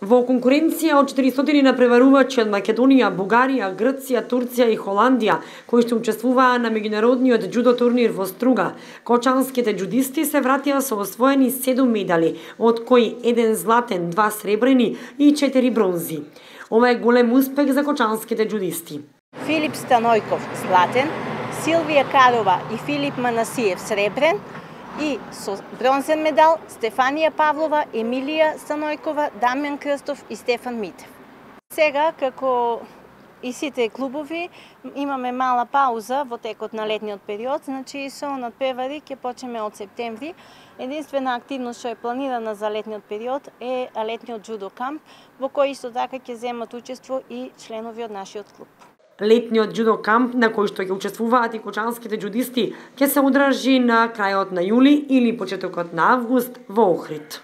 Во конкуренција од 400 напреварувачи од Македонија, Бугарија, Грција, Турција и Холандија, кои што учествуваа на меѓународниот џудо турнир во Струга, кочанските џудисти се вратија со освоени 7 медали, од кои 1 златен, 2 сребрени и 4 бронзи. Ова е голем успех за кочанските џудисти. Филип Станојков златен, Силвија Карова и Филип Манасиев сребрен, и со бронзен медал Стефанија Павлова, Емилија Станојкова, Дамјан Крстов и Стефан Митев. Сега, како и сите клубови, имаме мала пауза во текот на летниот период, значи со надпревари ќе почнеме од септември. Единствена активност што е планирана за летниот период е летниот џудо камп, во кој исто така ќе земат учество и членови од нашиот клуб. Летниот џудо камп на кој што ќе учествуваат и кочанските џудисти ќе се одржи на крајот на јули или почетокот на август во Охрид.